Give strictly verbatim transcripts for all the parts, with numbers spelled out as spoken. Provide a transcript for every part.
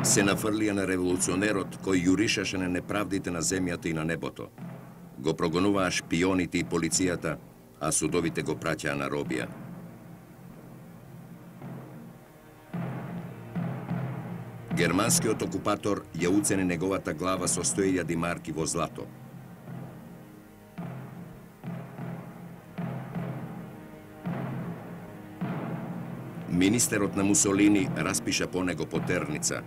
се нафрлија на револуционерот кој јуришаше на неправдите на земјата и на небото. Го прогонуваа шпионите и полицијата, а судовите го праќаа на робија. Германскиот окупатор ја уцени неговата глава со сто илјади марки во злато. Министерот на Мусолини распиша по него потерница.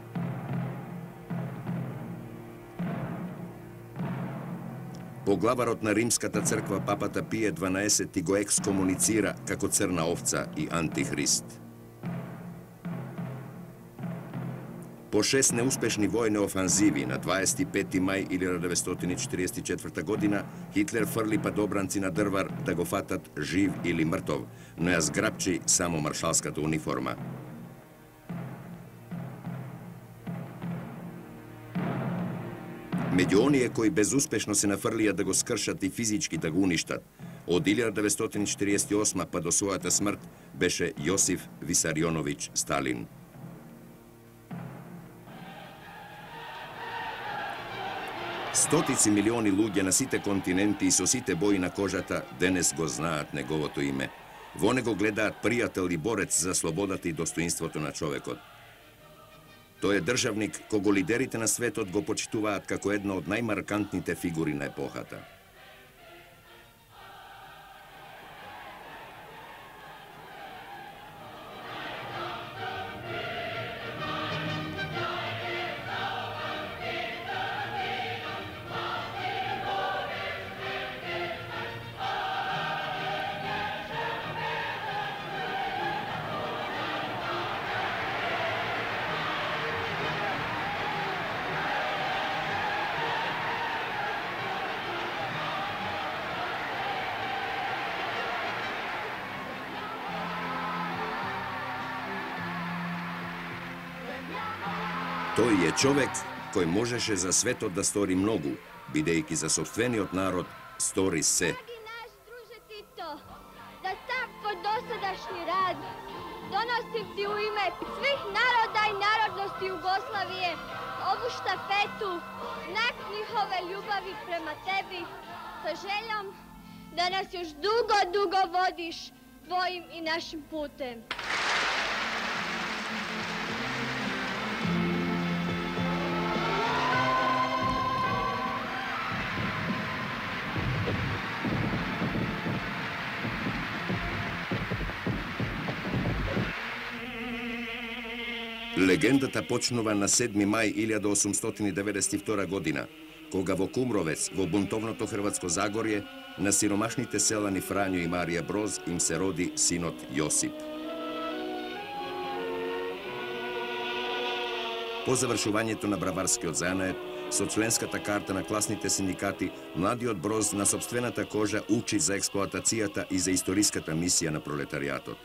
Поглаварот на Римската црква папата Пие дванаесети го екскомуницира како црна овца и антихрист. По шест неуспешни војни офанзиви на дваесет и пети мај илјада деветстотини четиридесет и четврта година Хитлер фрли падобранци на Дрвар да го фатат жив или мртов, но ја зграпчи само маршалската униформа. Меѓу оние кои безуспешно се нафрлија да го скршат и физички да го уништат, од илјада деветстотини четиридесет и осма па до својата смрт беше Јосиф Висарионовиќ Сталин. Стотици милиони луѓе на сите континенти и со сите бои на кожата денес го знаат неговото име. Во него гледаат пријател и борец за слободата и достоинството на човекот. Тој е државник кого лидерите на светот го почитуваат како една од најмаркантните фигури на епохата. Тој е човек кој можеше за светот да стори многу, бидејќи за сопствениот народ стори се. Драги наш друже Тито, за сав твој досадашни рад доносим ти у име свих народа и народности Југославије ову штафету, знак njihove љубави према теби, со желјом да нас још дуго, дуго водиш твоим и нашим путем. Легендата почнува на седми мај илјада осумстотини деветдесет и втора година, кога во Кумровец, во бунтовното Хрватско Загорје, на сиромашните селани Фрањо и Марија Броз им се роди синот Јосип. По завршувањето на браварскиот занает, со членската карта на класните синдикати, младиот Броз на сопствената кожа учи за експлоатацијата и за историската мисија на пролетаријатот.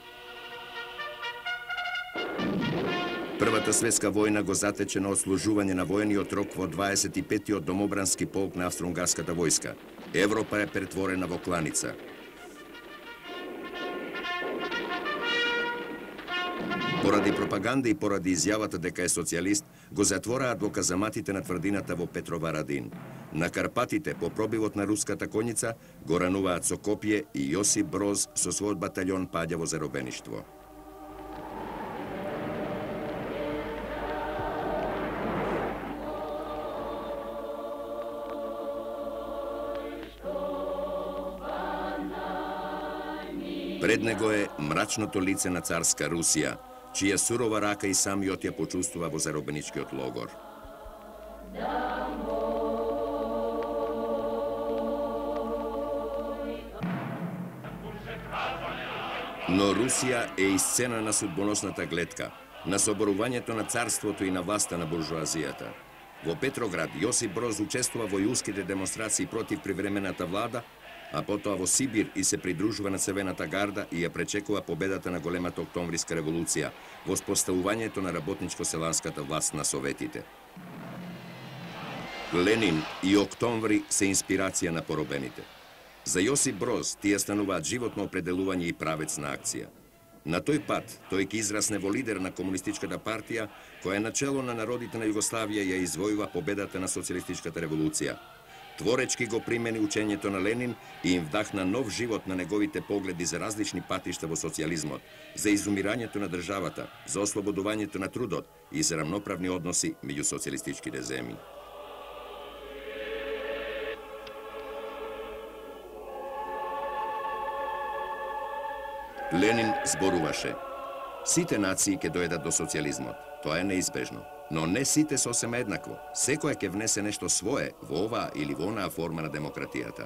Првата светска војна го затече на отслужување на војниот рок во дваесет и петиот домобрански полк на австро-унгарската војска. Европа е претворена во кланица. Поради пропаганда и поради изјавата дека е социјалист, го затвораат во казаматите на тврдината во Петроварадин. На Карпатите, по пробивот на руската коњица, го рануваат со копје и Јосип Броз со својот батаљон паѓа во заробеништво. Пред него е мрачното лице на царска Русија, чија сурова рака и самиот ја почувствува во заробеничкиот логор. Но Русија е и сцена на судбоносната гледка, на соборувањето на царството и на власта на буржуазијата. Во Петроград Јосип Броз учествува во јулските демонстрации против привремената влада, а потоа во Сибир и се придружува на Црвената гарда и ја пречекува победата на големата октомвриска револуција, во споставувањето на работничко-селанската власт на Советите. Ленин и Октомври се инспирација на поробените. За Јосип Броз тие стануваат животно определување и правец на акција. На тој пат, тој ќе израсне во лидер на комунистичката партија, која начело на народите на Југославија ја извојува победата на социјалистичката револуција. Творечки го примени учењето на Ленин и им вдахна нов живот на неговите погледи за различни патишта во социјализмот, за изумирањето на државата, за ослободувањето на трудот и за рамноправни односи меѓу социјалистичките земји. Ленин зборуваше: сите нации ќе дојдат до социјализмот, тоа е неизбежно, но не сите сосема еднакво. Секоја ќе внесе нешто свое во оваа или во онаа форма на демократијата.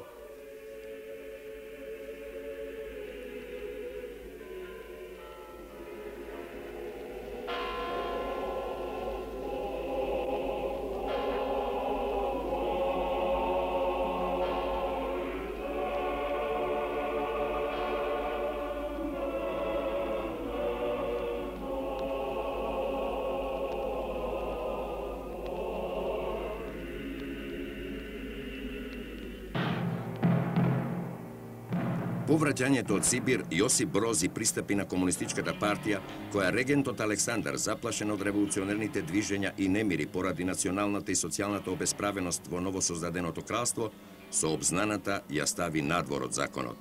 По враќањето од Сибир, Јосип Броз и пристапи на комунистичката партија, која регентот Александар, заплашен од револуционерните движења и немири поради националната и социјалната обесправеност во новосоздаденото кралство, со обзнаната ја стави надвор од законот.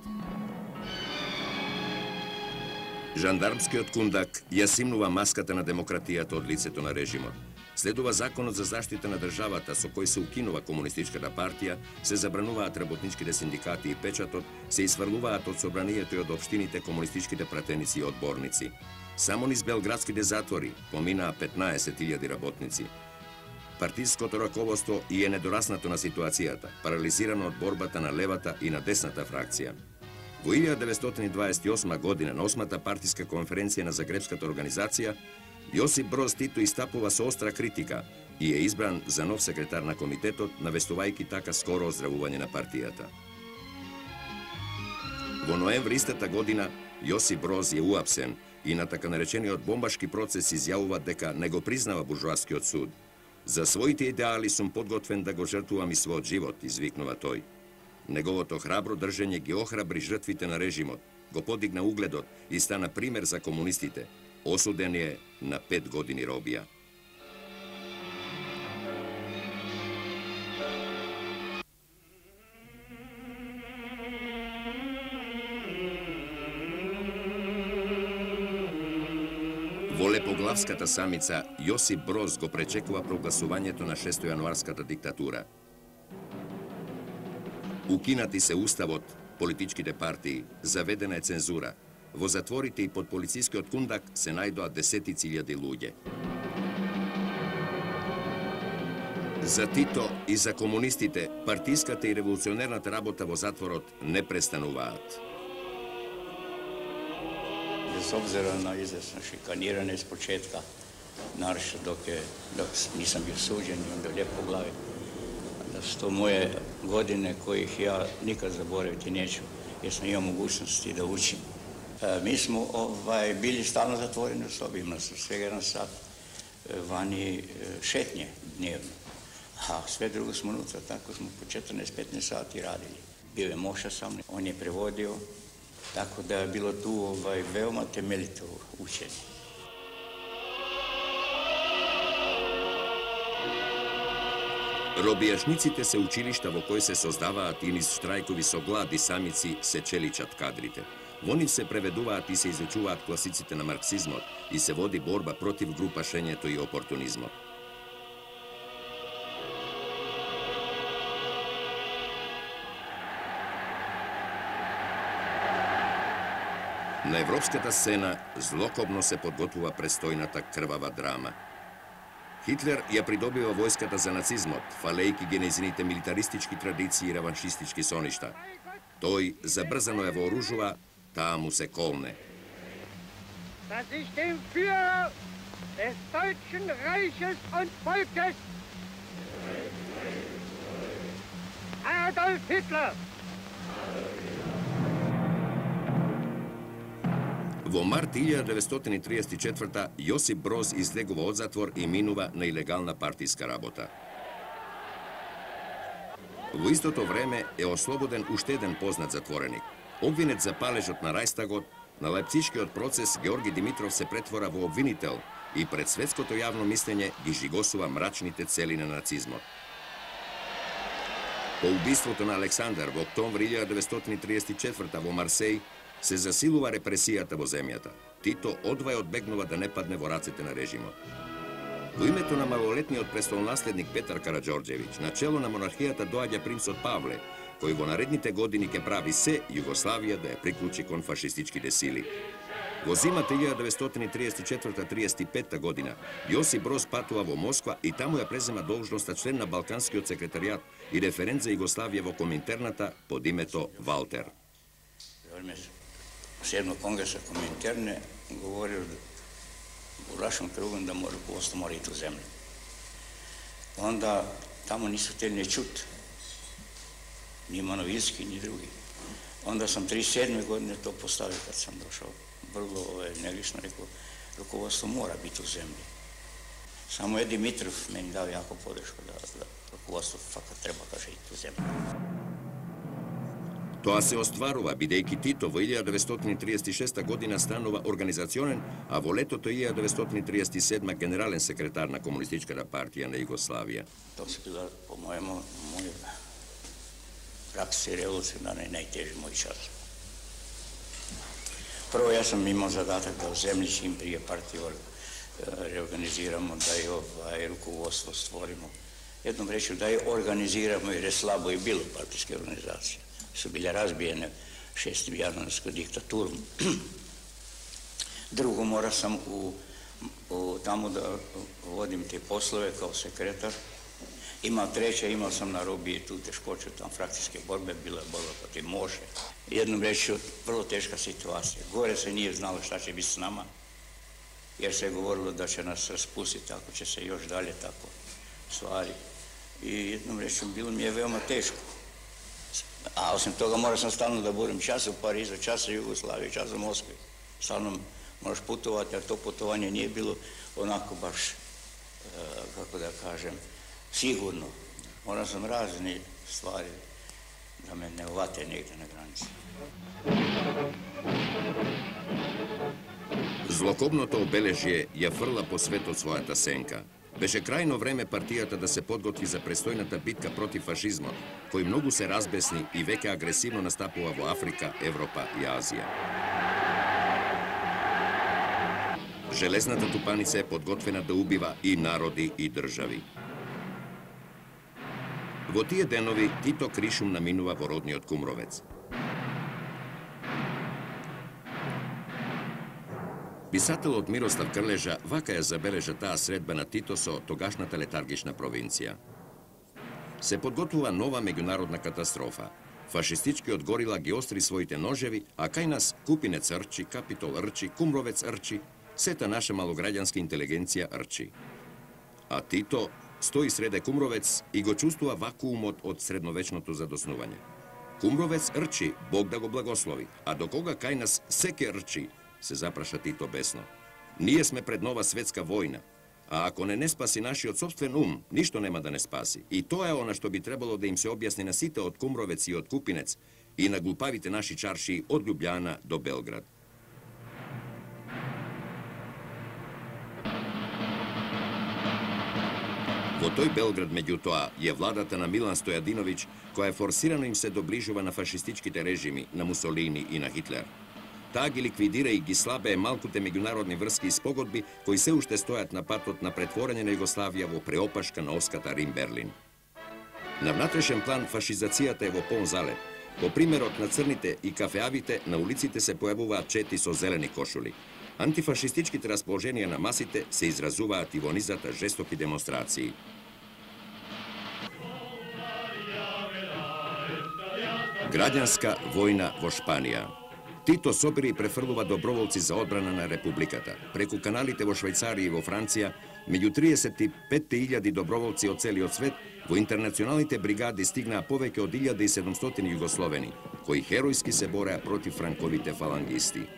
Жандармскиот кундак ја симнува маската на демократијата од лицето на режимот. Следува законот за заштита на државата со кој се укинува комунистичката партија, се забрануваат работничките синдикати и печатот, се изврлуваат од собранието и од општините комунистичките пратеници и одборници. Само низ белградските затвори поминаа петнаесет илјади работници. Партиското раководство и е недораснато на ситуацијата, парализирано од борбата на левата и на десната фракција. Во илјада деветстотини дваесет и осма година на осмата партиска конференција на Загребската организација, Јосип Броз Тито истапува со остра критика и е избран за нов секретар на комитетот, навестувајќи така скоро оздравување на партијата. Во ноември истата година Јосип Броз е уапсен и на така наречениот бомбашки процес изјавува дека не го признава буржуаскиот суд. За своите идеали сум подготвен да го жртвувам и својот живот, извикнува тој. Неговото храбро држење ги охрабри жртвите на режимот, го подигна угледот и стана пример за комунистите. Осуден е на пет години робија. Во Лепоглавската самица, Јосип Броз го пречекува прогласувањето на шестојануарската диктатура. Укинати се уставот, политичките партии, заведена е цензура. Во затворите и под полицискиот кундак се најдоа десетици илјади луѓе. За Тито и за комунистите, партиската и револуционерната работа во затворот не престануваат. Без обзира на известно шиканирање с почетка, нарешто док, е, док нисам бил суđен и onda Лепоглави, da su to moje godine kojih ja nikad zaboraviti neću, jer sam imao mogućnosti da učim. E, mi smo ovaj, bili stalno zatvoreni u sobi, imali smo svega jedan sat vani šetnje dnevno, a sve drugo smo unutra, tako smo po četrnaest petnaest sati radili. Bio je Moša sa mnom, on je prevodio, tako da je bilo tu ovaj, veoma temeljito učenje. Робијашниците се училишта во кои се создаваат и низ штрајкови со глад и самици се челичат кадрите. Во нив се преведуваат и се изучуваат класиците на марксизмот и се води борба против групашењето и опортунизмот. На европската сцена злокобно се подготвува престојната крвава драма. Хитлер ја придобива војската за нацизмот, фалејки ги нејзините милитаристички традиции и реваншистички соништа. Тој забрзано ја вооружува, таа му се колне. Dass ich dem Führer des Deutschen Reiches und Volkes, Adolf Hitler, Во март илјада деветстотини триесет и четврта Јосип Броз излегува од затвор и минува на илегална партиска работа. Во истото време е ослободен уште еден познат затвореник. Обвинет за палежот на Рајстагот, на Лајпцишкиот процес Георги Димитров се претвора во обвинител и пред светското јавно мислење ги жигосува мрачните цели на нацизмот. По убиството на Александар во октомври илјада деветстотини триесет и четврта во Марсеј се засилува репресијата во земјата. Тито одвај одбегнува да не падне во рацете на режимот. Во името на малолетниот престолнаследник Петар Караџорџевиќ, на чело на монархијата доаѓа принцот Павле, кој во наредните години ќе прави се Југославија да ја приклучи кон фашистичките сили. Во зимата илјада деветстотини триесет и четврта до триесет и петта година, Јосип Броз патува во Москва и таму ја презема должноста член на Балканскиот секретаријат и референт за Југославија во Коминтерната под името Валтер. Седмog kongresa Kominterne govorio u našem krugu da mora rukovodstvo mora iti u zemlju. Onda tamo nisu htjeli ne čuti, ni Manovinski, ni drugi. Onda sam trideset sedme godine to postavio kad sam došao. Vrlo energično rekao, rukovodstvo mora biti u zemlji. Samo je Dimitrov meni dao jako podršku da, da rukovodstvo fakat treba, kaže, iti u zemlju. Тоа се остварува, бидејќи Тито во илјада деветстотини триесет и шеста година станува организационен, а во летото илјада деветстотини триесет и седма генерален секретар на Комунистичката партија на Југославија. Тоа се била, по мојому, мој реакција револуционарна и најтежи мој час. Прво, јас сам имал задатак да у земљи чим прije партија реорганизирамо, да ја овај руководство створимо. Едном речju, да ја организирамо, jer je slabo i bilo partijske organizacije. Su bile razbijene šestim januarskom diktaturom. Drugo, mora sam u, u, tamo da vodim te poslove kao sekretar. Imao treće, imao sam na robiji tu teškoću, tam frakcijske borbe, bila je borba protiv Moše. Jednom rečju, vrlo teška situacija. Gore se nije znalo šta će biti s nama, jer se je govorilo da će nas raspustiti, ako će se još dalje tako stvari. I jednom rečju, bilo mi je veoma teško. A osim toga morao sam stalno da budem čas u Parizu, čas u Jugoslaviji, čas u Moskvi. Stalno moraš putovati, a to putovanje nije bilo onako baš, kako da kažem, sigurno. Morao sam razne stvari da me ne uvate negde na granici. Злокобното обележје ја фрла по светот својата сенка. Беше крајно време партијата да се подготви за престојната битка против фашизмот, кој многу се разбесни и веќе агресивно настапува во Африка, Европа и Азија. Железната тупаница е подготвена да убива и народи и држави. Во тие денови Тито Кришум наминува во родниот Кумровец. Писателот Мирослав Крлежа вака ја забележа таа средба на Тито со тогашната летаргична провинција. Се подготвува нова меѓународна катастрофа. Фашистичкиот горила ги остри своите ножеви, а кај нас Купинец рчи, Капитол рчи, Кумровец рчи, сета наша малограѓанска интелигенција рчи. А Тито стои среде Кумровец и го чувствува вакуумот од средновечното задоснување. Кумровец рчи, Бог да го благослови, а до кога кај нас секе рчи, се запраша Тито бесно. Ние сме пред нова светска војна, а ако не не спаси нашиот собствен ум, ништо нема да не спаси. И тоа е она што би требало да им се објасни на сите од Кумровец и од Купинец и на глупавите наши чарши од Љубљана до Белград. Во тој Белград, меѓутоа, е владата на Милан Стојадиновиќ, која форсирано им се доближува на фашистичките режими, на Мусолини и на Хитлер. Таа ги ликвидира и ги слабее малкуте меѓународни врски и спогодби кои се уште стојат на патот на претворење на Југославија во преопашка на оската Рим-Берлин. На внатрешен план фашизацијата е во полн залет. По примерот на црните и кафеавите, на улиците се појавуваат чети со зелени кошули. Антифашистичките расположенија на масите се изразуваат и во низата жестоки демонстрации. Граѓанска војна во Шпанија. Тито собира и префрлува доброволци за одбрана на Републиката. Преку каналите во Швајцарија и во Франција, меѓу триесет и пет илјади доброволци од целиот свет, во интернационалните бригади стигнаа повеќе од илјада и седумстотини југословени, кои херојски се бореа против франковите фалангисти.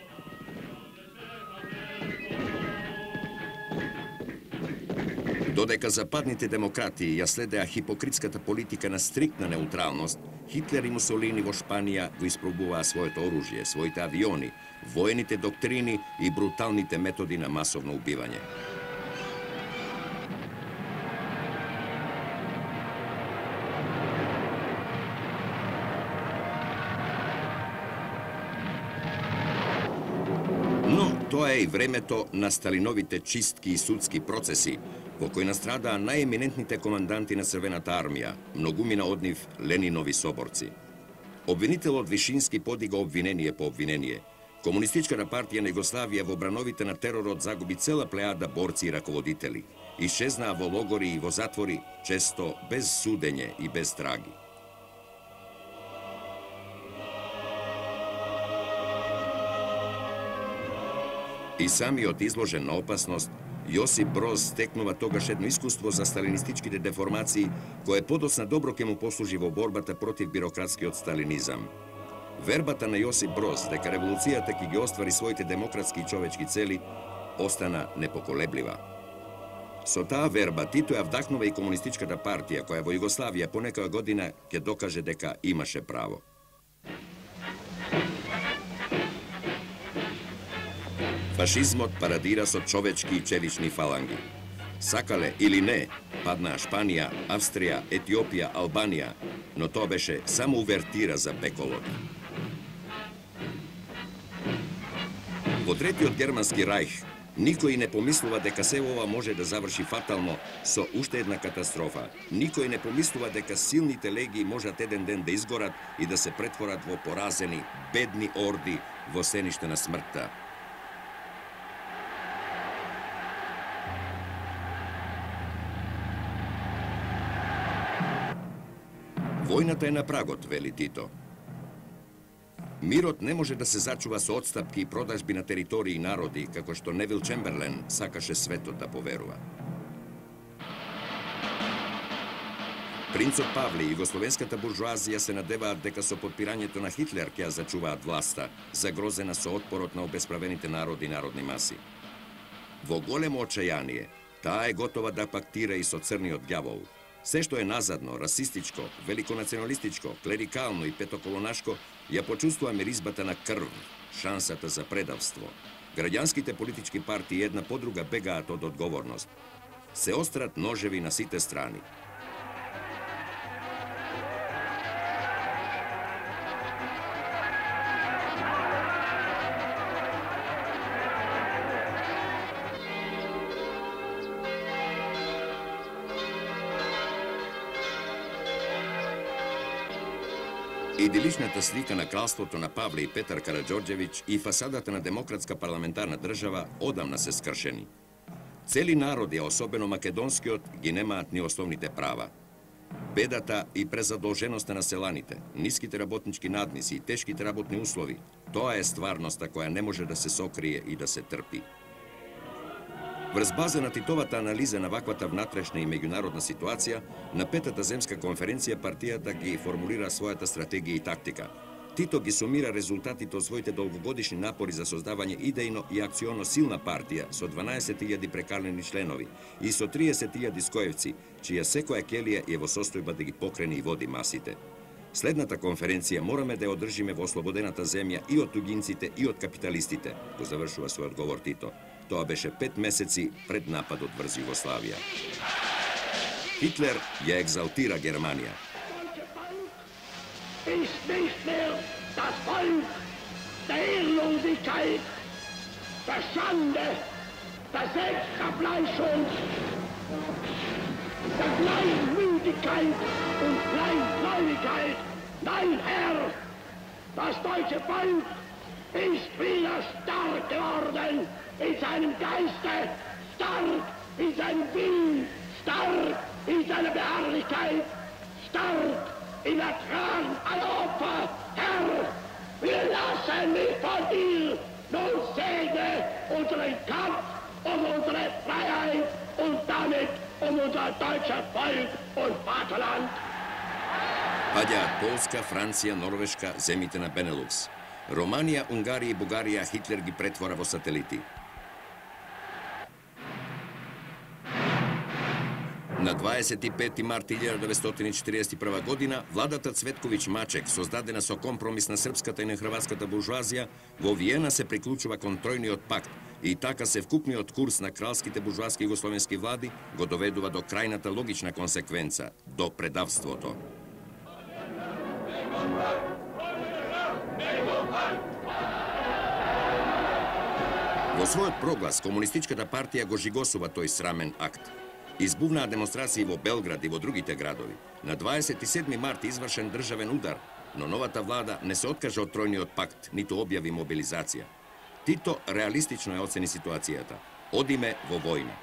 Додека западните демократи ја следеа хипокритската политика на стриктна неутралност, Хитлер и Мусолини во Шпанија го испробуваа своето оружје, своите авиони, воените доктрини и бруталните методи на масовно убивање. Но тоа е и времето на Сталиновите чистки и судски процеси, во кои настрадаа најеминентните команданти на Црвената армија, многумина од нив Ленинови соборци. Обвинителот Вишински подига обвинение по обвинение. Комунистичката партија на Југославија во брановите на теророт загуби цела плејада борци и раководители. Исчезнаа во логори и во затвори, често без судење и без траги. И самиот изложен на опасност, Јосип Броз стекнува тогаш едно искуство за сталинистичките деформации, кое подоцна добро ќе му послужи во борбата против бирократскиот сталинизам. Вербата на Јосип Броз дека револуцијата ќе ги оствари своите демократски и човечки цели остана непоколеблива. Со таа верба Тито ја вдахнува и комунистичката партија, која во Југославија по некоја година ќе докаже дека имаше право. Фашизмот парадира со човечки и челични фаланги. Сакале или не, паднаа Шпанија, Австрија, Етиопија, Албанија, но тоа беше само увертира за пеколот. Во третиот германски рајх, никој не помислува дека се ова може да заврши фатално со уште една катастрофа. Никој не помислува дека силните легии можат еден ден да изгорат и да се претворат во поразени, бедни орди во сениште на смртта. Војната е на прагот, вели Тито. Мирот не може да се зачува со отстапки и продажби на територии и народи, како што Невил Чемберлен сакаше светот да поверува. Принцот Павле и југословенската буржуазија се надеваат дека со подпирањето на Хитлер ќе ја зачуваат власта, загрозена со отпорот на обесправените народи и народни маси. Во големо очајание, таа е готова да пактира и со црниот ѓавол. Се што е назадно, расистичко, великонационалистичко, клерикално и петоколонашко, ја почувствува миризбата на крв, шансата за предавство. Граѓанските политички партии една по друга бегаат од одговорност. Се острат ножеви на сите страни. Идиличната слика на кралството на Павле и Петар Караџорџевиќ и фасадата на демократска парламентарна држава одамна се скршени. Цели народи, а особено македонскиот, ги немаат ни основните права. Бедата и презадолженоста на селаните, ниските работнички надници и тешките работни услови, тоа е стварноста која не може да се сокрие и да се трпи. Врз база на Титовата анализа на ваквата внатрешна и меѓународна ситуација, на петата земска конференција партијата ги формулира својата стратегија и тактика. Тито ги сумира резултатите од своите долгогодишни напори за создавање идејно и акционо силна партија со дванаесет илјади прекалени членови и со триесет илјади скоевци, чија секоја келија е во состојба да ги покрене и води масите. Следната конференција мораме да ја одржиме во ослободената земја и од тугинците и од капиталистите, го завршува својот говор Тито. Тоа беше пет месеци пред нападот врз Југославија. Хитлер ја екзалтира Германија. Ist nicht mehr das Volk der Ehrlosigkeit, der Schande, der Selbstverfleischung, der Kleinmütigkeit und Kleingläubigkeit. Nein, Herr, das deutsche Volk ist wieder stark geworden in seinem Geiste, stark in seinem Willen, stark in seiner Beharrlichkeit, stark in der Tragen aller Opfer. Herr, wir lassen nicht von dir, nun segne unseren Kampf um unsere Freiheit und damit um unser deutsches Volk und Vaterland. Паѓаат Полска, Франција, Норвешка, земите на Бенелукс. Романија, Унгарија и Бугарија Хитлер ги претвора во сателити. На дваесет и пети март илјада деветстотини и четириесет и прва година, владата Цветковиќ Мачек, создадена со компромис на српската и на хрватската буржуазија, во Виена се приклучува кон тројниот пакт и така се вкупниот курс на кралските буржуаски југословенски влади го доведува до крајната логична консеквенца, до предавството. Во својот проглас, Комунистичката партија го жигосува тој срамен акт. Избувнаа демонстрации во Белград и во другите градови. На дваесет и седми март извршен државен удар, но новата влада не се откажа од тројниот пакт, ниту објави мобилизација. Тито реалистично ја оцени ситуацијата. Одиме во војна.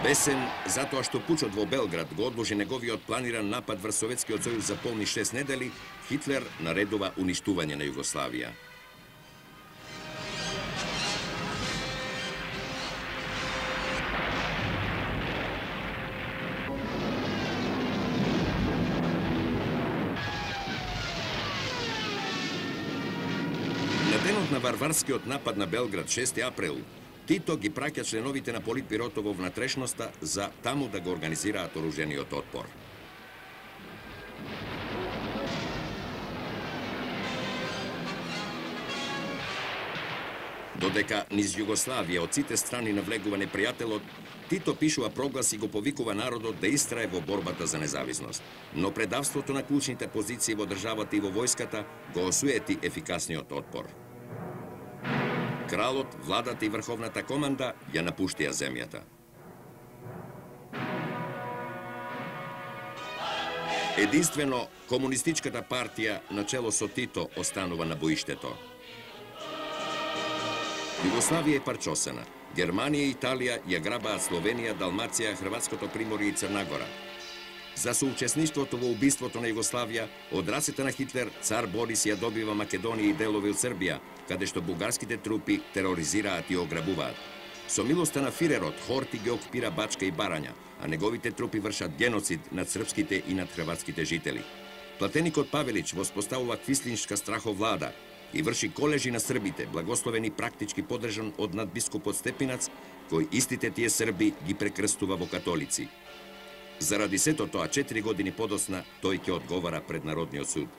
Бесен, затоа што пучот во Белград го одложи неговиот планиран напад врз Советскиот сојуз за полни шест недели, Хитлер наредува уништување на Југославија. На денот на варварскиот напад на Белград, шести април, Тито ги праќа членовите на Политбирото во внатрешноста за таму да го организираат оружениот отпор. Додека низ Југославија од сите страни навлегува непријателот, Тито пишува проглас и го повикува народот да истрае во борбата за независност. Но предавството на клучните позиции во државата и во војската го осуети ефикасниот отпор. Кралот, владата и врховната команда ја напуштија земјата. Единствено, Комунистичката партија на чело со Тито останува на боиштето. Југославија е парчосена. Германија и Италија ја грабаат Словенија, Далмација, Хрватското приморје и Црна Гора. За соучесништвото во убиството на Југославија, од рацете на Хитлер, цар Борис ја добива Македонија и делови од Србија, каде што бугарските трупи тероризираат и ограбуваат. Со милоста на фирерот, Хорти ги окупира Бачка и Барања, а неговите трупи вршат геноцид над српските и над хрватските жители. Платеникот Павелич воспоставува квислиншка страховлада и врши колежи на србите, благословени практички подржан од надбискупот Степинац, кој истите тие срби ги прекрстува во католици. Заради сето тоа, четири години подосна, тој ќе одговара пред Народниот суд.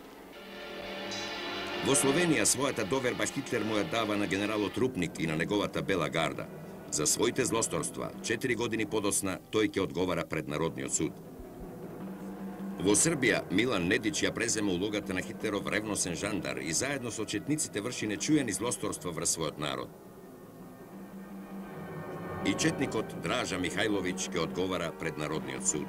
Во Словенија својата доверба Хитлер му ја дава на генералот Рупник и на неговата Бела гарда. За своите злосторства, четири години подосна, тој ќе одговара пред Народниот суд. Во Србија, Милан Недич ја презема улогата на Хитлеров ревносен жандар и заедно со четниците врши нечуени злосторства врз својот народ. И четникот Дража Михајловиќ ќе одговара пред Народниот суд.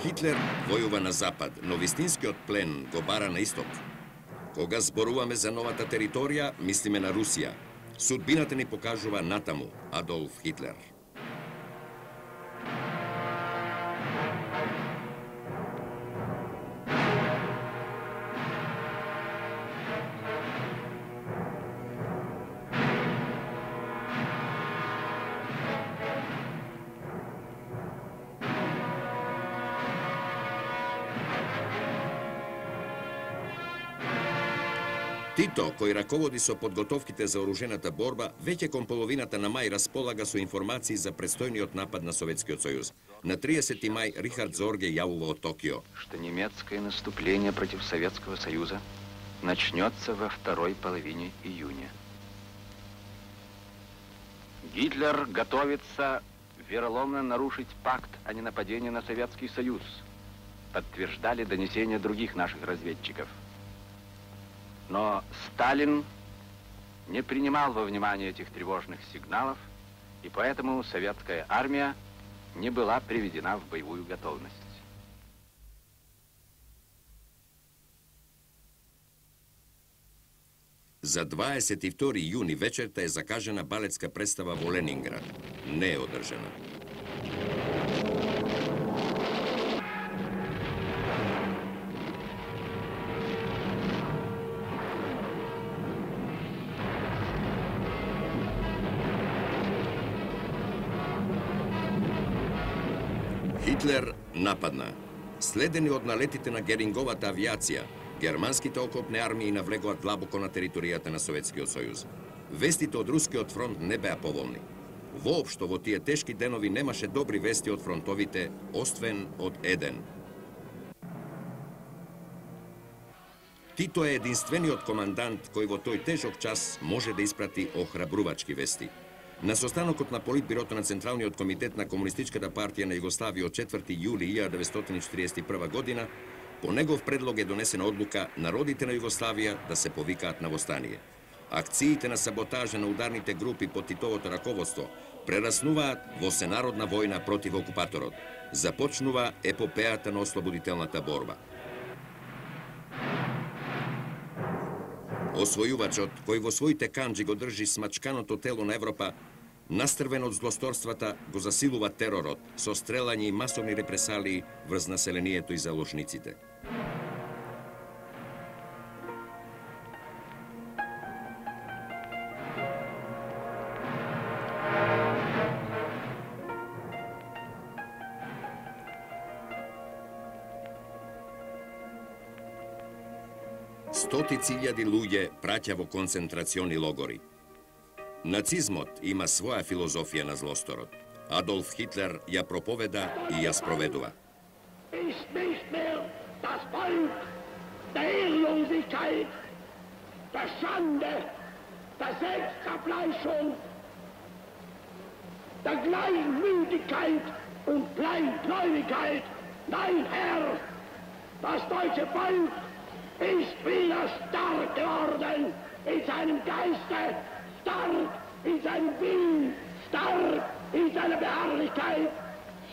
Хитлер војува на запад, но вистинскиот плен го бара на исток. Кога зборуваме за новата територија, мислиме на Русија. Судбината ни покажува натаму Адолф Хитлер. Тито, кој раководи со подготовките за оружената борба, веќе кон половината на мај располага со информации за предстојниот напад на Советскиот сојуз. На тридесети мај Рихард Зорге јавува од Токио, что немецкое наступление против Советского Союза начнется во второй половине июня. Гитлер готовится вероломно нарушить пакт о ненападении на Советский Союз, подтверждали донесения других наших разведчиков. Но Сталин не принимал во внимание этих тревожных сигналов, и поэтому советская армия не была приведена в боевую готовность. За дваесет и втори јуни вечерта е закажана балетска представа во Ленинград. Не е одржана. Хитлер нападна. Следени од налетите на Геринговата авиација, германските окопни армии навлегоа длабоко на територијата на Советскиот сојуз. Вестите од Рускиот фронт не беа поволни. Воопшто во тие тешки денови немаше добри вести од фронтовите, освен од еден. Тито е единствениот командант кој во тој тежок час може да испрати охрабрувачки вести. На состанокот на Политбирото на Централниот комитет на Комунистичката партија на Југославија од четврти јули илјада деветстотини четиридесет и прва година, по негов предлог е донесена одлука народите на Југославија да се повикаат на востание. Акциите на саботажа на ударните групи под Титовото раководство прераснуваат во сенародна војна против окупаторот. Започнува епопејата на ослободителната борба. Освојувачот, кој во своите канџи го држи смачканото тело на Европа, настрвен од злосторствата, го засилува теророт со стрелање и масовни репресалии врз населението и заложниците. Стотици илјади луѓе праќа во концентрациони логори. Нацизмот има своја филозофија на злосторот. Адолф Хитлер ја проповеда и ја спроведува. Ist nicht mehr das Volk der Ehrlosigkeit, der Schande, der Selbstzerfleischung, der Gleichmütigkeit und Kleingläubigkeit. Nein, Herr, das deutsche Volk ist wieder stark geworden in seinem Geiste, stark in seinem Willen, stark in seiner Beharrlichkeit,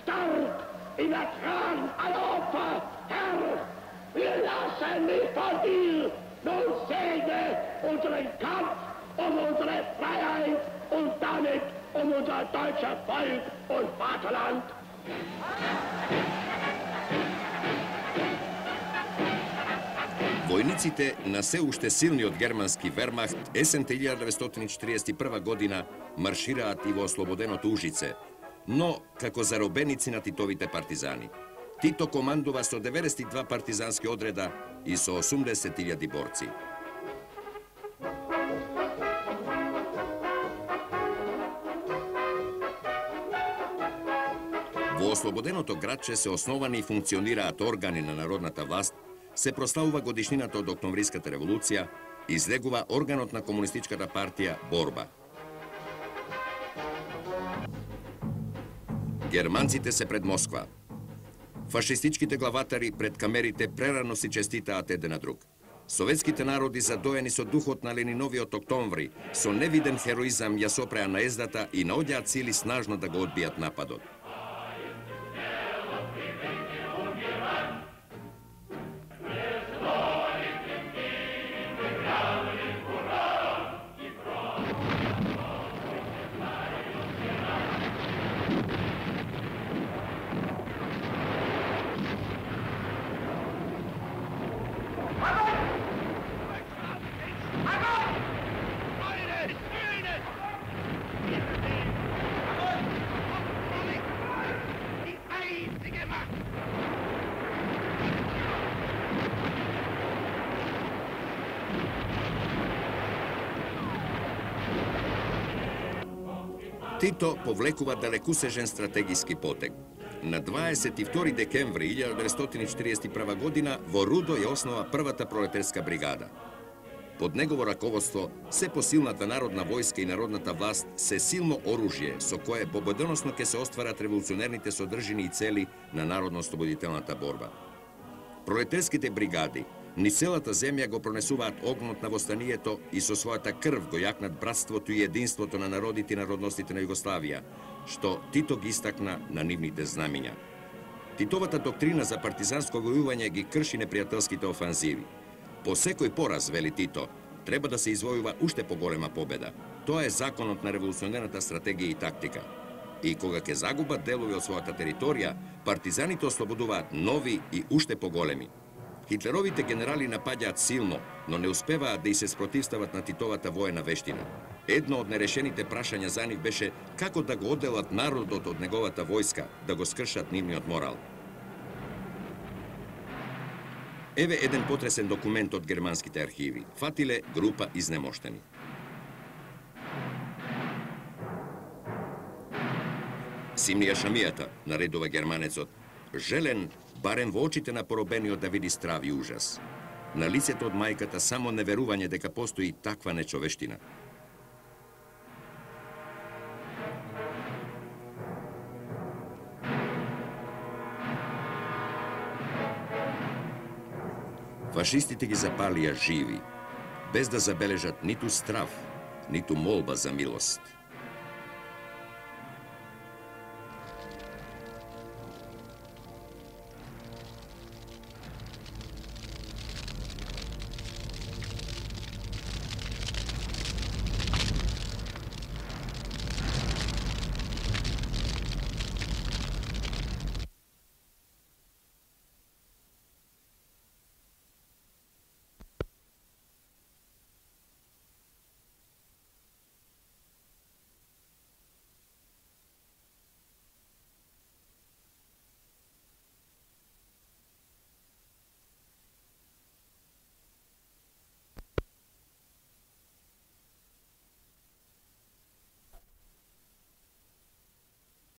stark im Ertragen aller Opfer. Herr, wir lassen nicht von dir, nun segne unseren Kampf um unsere Freiheit und damit um unser deutsches Volk und Vaterland. Војниците на се уште силниот германски Вермахт есента илјада деветстотини четиридесет и прва година маршираат и во ослободеното Ужице, но како заробеници на Титовите партизани. Тито командува со деветдесет и два партизански одреда и со осумдесет илјади борци. Во ослободеното градче се основани и функционираат органи на народната власт, се прославува годишнината од Октомвриската револуција, излегува органот на Комунистичката партија Борба. Германците се пред Москва. Фашистичките главатари пред камерите прерано си честитаат еден на друг. Советските народи, задоени со духот на Лениновиот Октомври, со невиден хероизам ја сопреа наездата и наоѓаат сили снажно да го одбијат нападот. Тито повлекува далекусежен стратегиски потег. На дваесет и втори декември илјада деветстотини четиридесет и прва година во Рудо ја основа првата пролетарска бригада. Под негово раководство се посилната народна војска и народната власт се силно оружје со кое победоносно ќе се остварат револуционерните содржини и цели на народно-ослободителната борба. Пролетарските бригади ни целата земја го пронесуваат огнот на востанието и со својата крв го јакнат братството и единството на народите и народностите на Југославија, што Тито ги истакна на нивните знамиња. Титовата доктрина за партизанско војување ги крши непријателските офанзиви. По секој пораз, вели Тито, треба да се извојува уште поголема победа. Тоа е законот на револуционерната стратегија и тактика. И кога ќе загубат делови од својата територија, партизаните ослободуваат нови и уште поголеми. Хитлеровите генерали напаѓаат силно, но не успеваат да и се спротивстават на Титовата воена вештина. Едно од нерешените прашања за нив беше како да го одделат народот од неговата војска, да го скршат нивниот морал. Еве еден потресен документ од германските архиви. Фатиле група изнемоштени. Симнија Шамијата, наредува германецот, желен барем во очите на поробениот да види страв и ужас. На лицето од мајката само неверување дека постои таква нечовештина. Фашистите ги запалија живи, без да забележат ниту страв, ниту молба за милост.